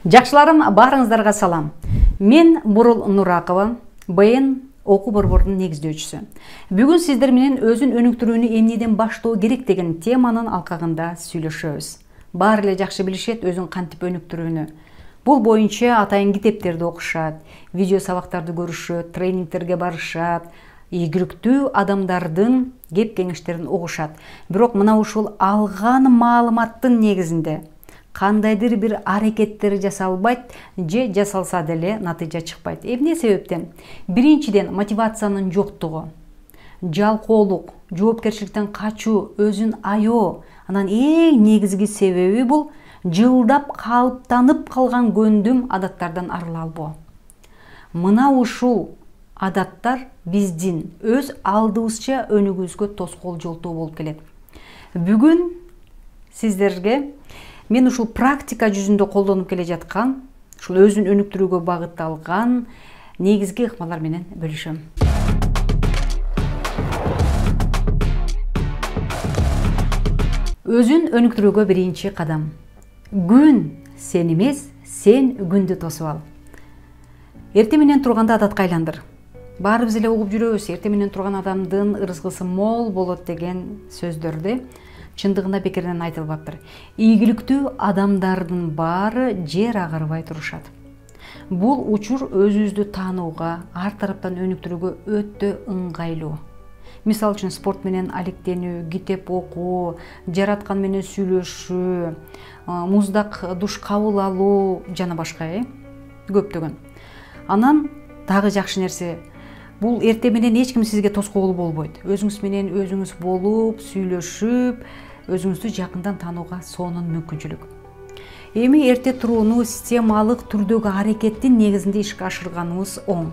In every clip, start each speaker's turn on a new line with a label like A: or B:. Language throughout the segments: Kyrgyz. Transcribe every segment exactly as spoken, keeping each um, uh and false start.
A: Жакшыларым, баарыңыздарга салам. Мен Бурул Нуракова, БН окуу борборунун негиздөөчүсү. Бүгүн сиздер менен өзүн өнүктүрүүнү эмнеден баштоо керек деген теманын алкагында сүйлөшөбүз. Баары эле жакшы билишет өзүн кантип өнүктүрүүнү. Бул боюнча атайын китептерди окушат, видео сабактарды көрүшөт, тренингтерге барышат, ийгиликтүү адамдардын кеп кеңештерин угушат. Бирок мына ушул алган маалыматтын негизинде кандайдыр бир аракеттер жасалбайт же жасалса деле натыйжа чыкпайт. Эмне себептен? Биринчиден, мотивациянын жоктугу, жалкоолук, жоопкерчиликтен качуу, өзүн аябоо. Анан эң негизги себеби бул жылдап калыптанып калган көндүм адаттардан арыла албоо. Мына ушул адаттар биздин өз алдыбызча өнүгүүбүзгө тоскоол жолтоо болуп келет. Бүгүн сиздерге мен ушул практика жүзүндө колдонуп келе жаткан, ушул өзүн өнүктүрүүгө багытталган негизги ыкмалар менен бөлүшөм. Өзүн өнүктүрүүгө биринчи кадам. Күн сен эмес, сен күндү тосуп ал. Эртең менен турганда адатка айландыр. Баарыбыз эле угуп жүрөбүз, эртең менен турган адамдын ырызкысы мол болот деген сөздөрдү чындыгында бекерден айтылбаптыр. Ийгиликтүү адамдардын баары жер агарбай турушат. Бул учур өзүбүздү таанууга, ар тараптан өнүктүрүүгө өтө ыңгайлуу. Мисалы үчүн спорт менен алектенүү, китеп окуу, жараткан менен сүйлөшүү, муздак душ кабыл алуу жана башка э көптөгөн. Анан дагы жакшы нерсе, бул эртең менен эч ким сизге тоскоол болбойт. Өзүңүз менен өзүңүз болуп, сүйлөшүп, өзүңүздү жакындан таанууга сонун мүмкүнчүлүк. Эми эрте турууну системалык түрдөгү аракеттин негизинде ишке ашырганыбыз оң.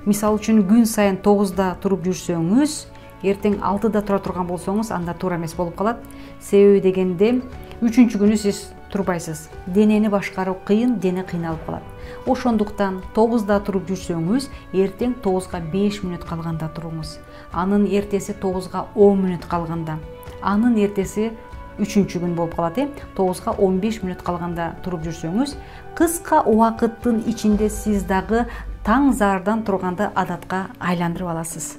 A: Мисалы үчүн күн сайын тогузда туруп жүрсөңүз, эртең алтыда тура турган болсоңуз, анда туура эмес болуп калат. Себеби дегенде үчүнчү күнү сиз турбайсыз. Денени башкаруу кыйын, дене кыйналып калат. Ошондуктан тогузда туруп жүрсөңүз, эртең тогузга беш мүнөт калганда туруңуз. Анын эртеси тогузга он мүнөт калганда. Анын эртеси үчүнчү күн болуп калат, э? тогузга он беш мүнөт калганда туруп жүрсөңүз, кыска убакыттын ичинде сиз дагы таң зардан турганда адатка айландырып аласыз.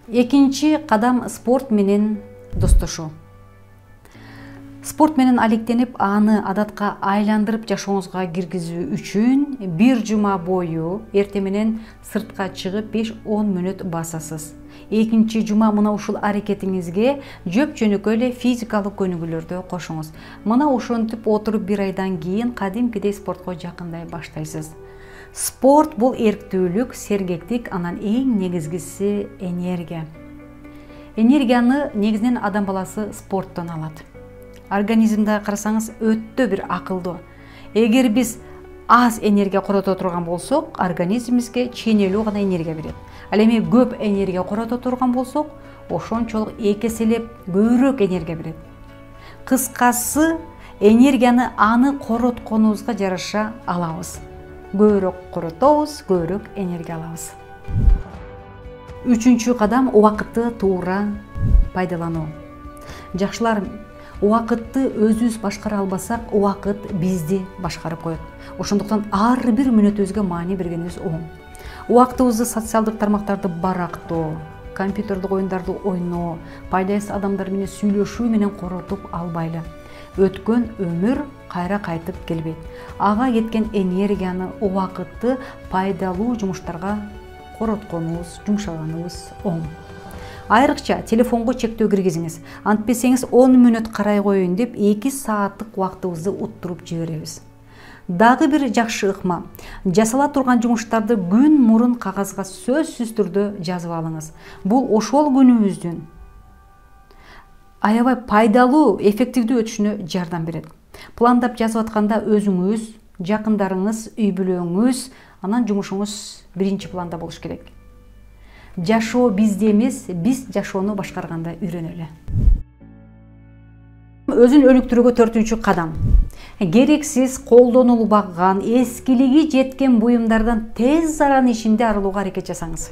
A: Экинчи кадам спорт менен достошуу. Спорт менен алектенип, аны адатка айландырып жашооңузга киргизүү үчүн бир жума бою эртең менен сыртка чыгып беш он мүнөт басасыз. Экинчи жума мына ушул аракетиңизге жөп жөнөкөй эле физикалык көнүгүүлөрдү кошуңуз. Мына ошентип отуруп бир айдан кийин кадимкидей спортко жакындай баштайсыз. Спорт бул эрктүүлүк, сергектик, анан эң негизгиси энергия. Энергияны негизинен адам баласы спорттон алат. Организмде карасаңыз өтө бир акылдуу. Эгер биз аз энергия корото турган болсок, организмибизге ченелүү гана энергия берет. Ал эми көп энергия корото турган болсок, ошончолук эки эселеп көбүрөөк энергия берет. Кыскасы, энергияны аны коротконубузга жараша алабыз. Көбүрөөк коротобуз, көбүрөөк энергия алабыз. Үчүнчү кадам убакытты туура пайдалануу. Жакшылар, убакытты өзүбүз башкара албасак, убакыт бизди башкарып коет. Ошондуктан ар бир мүнөтүбүзгө маани бергенибиз оң. Убактыбызды социалдык тармактарды барактоо, компьютердик оюндарды ойноо, пайдасыз адамдар менен сүйлөшүү менен коротуп албайлы. Өткөн өмүр кайра кайтып келбейт. Ага кеткен энергияны, убакытты пайдалуу жумуштарга коротконубуз, жумшаганыбыз оң. Айрыкча телефонго чектөө киргизиңиз. Антпесеңиз он мүнөт карай коеюн деп эки сааттык убактыбызды уттуруп жиберебиз. Дагы бир жакшы ыкма. Жасала турган жумуштарды күн мурун кагазга сөзсүз түрдө жазып алыңыз. Бул ошол күнүбүздүн аябай пайдалуу, эффективдүү өтүшүнө жардам берет. Пландап жазып атканда өзүңүз, жакындарыңыз, үй бүлөңүз, анан жумушуңуз биринчи планда болуш керек. Жашоо бизде эмес, биз жашоону башкарганда үйрөнөлү. Өзүн өнүктүрүүгө төртүнчү кадам. Керексиз колдонулбаган, эскилиги жеткен буюмдардан тез аран ичинде арылууга аракет жасаңыз.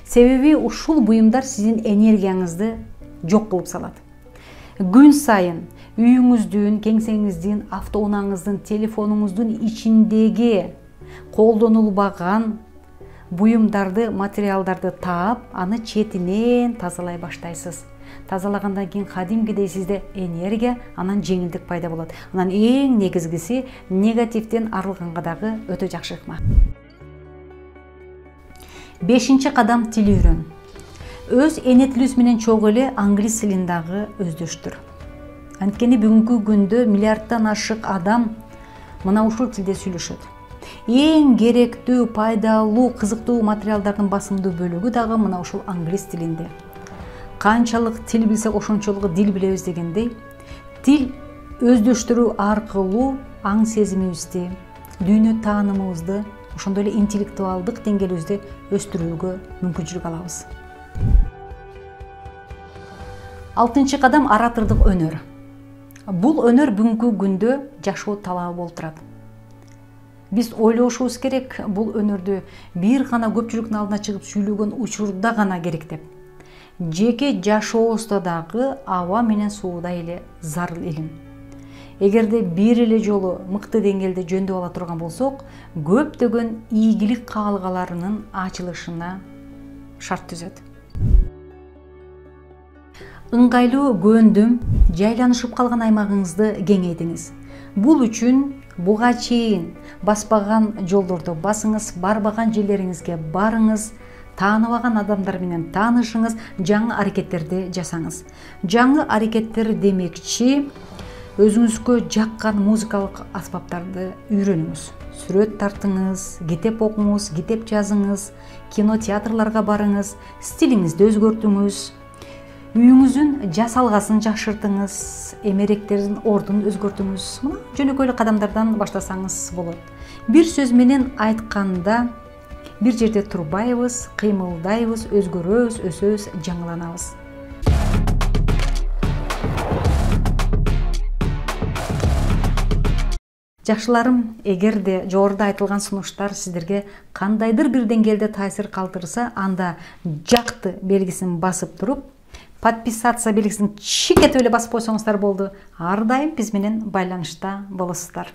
A: Себеби ушул буюмдар сиздин энергияңызды жок кылып салат. Күн сайын үйүңүздүн, кеңсеңиздин, автоунааңыздын, телефонуңуздун ичиндеги колдонулбаган буюмдарды, материалдарды таап, аны четинен тазалай баштайсыз. Тазалагандан кийин кадимкидей сизде энергия, анан жеңилдик пайда болот. Анан эң негизгиси негативден арылганга дагы өтө жакшы ыкма. Бешинчи кадам — тил үйрөн. Өз эне тилиңиз менен чогуу эле англис тилин дагы өздөштүр. Анткени бүгүнкү күндө миллиарддан ашык адам мына ушул тилде сүйлөшөт. Эң керектүү, пайдалуу, кызыктуу материалдардын басымдуу бөлүгү дагы мына ушул англис тилинде. Канчалык тил билсек, ошончолук дил билебиз дегендей, тил өздөштүрүү аркылуу аң сезимибизди, дүйнө таанымыбызды, ошондой эле интеллектуалдык деңгээлибизди өстүрүүгө мүмкүнчүлүк алабыз. Алтынчы кадам — оратордук өнөр. Бул өнөр бүгүнкү күндө жашоо талабы болуп турат. Биз ойлошубуз керек, бул өнөрдү бир гана көпчүлүктүн алдына чыгып сүйлөгөн учурда гана керек деп. Жеке жашообузда дагы аба менен суудай эле зарыл илим. Эгерде бир эле жолу мыкты деңгээлде жөндөп ала турган болсок, көптөгөн ийгилик каалгаларынын ачылышына шарт түзөт. Ыңгайлуу көөндүм, жайланышып калган аймагыңызды кеңейтиңиз. Бул үчүн буга чейин баспаган жолдорду басыңыз, барбаган жерлериңизге барыңыз, тааныбаган адамдар менен таанышыңыз, жаңы аракеттерди жасаңыз. Жаңы аракеттер демекчи, өзүңүзгө жаккан музыкалык аспаптарды үйрөнүңүз. Сүрөт тартыңыз, китеп окуңуз, китеп жазыңыз, кино, театрларга барыңыз, стилиңизди өзгөртүңүз. Үйүңүздүн жасалгасын жакшыртыңыз, эмеректердин ордун өзгөртүңүз. Мына жөнөкөй эле кадамдардан баштасаңыз болот. Бир сөз менен айтканда, бир жерде турбайбыз, кыймылдайбыз, өзгөрөбүз, өсөбүз, жаңыланабыз. Жакшыларым, эгерде жогоруда айтылган сунуштар сиздерге кандайдыр бир деңгээлде таасир калтырса, анда жакты белгисин басып туруп, подписаться белгисин чикетип эле басып койсоңуздар болду. Ар дайым биз менен байланышта болосуздар.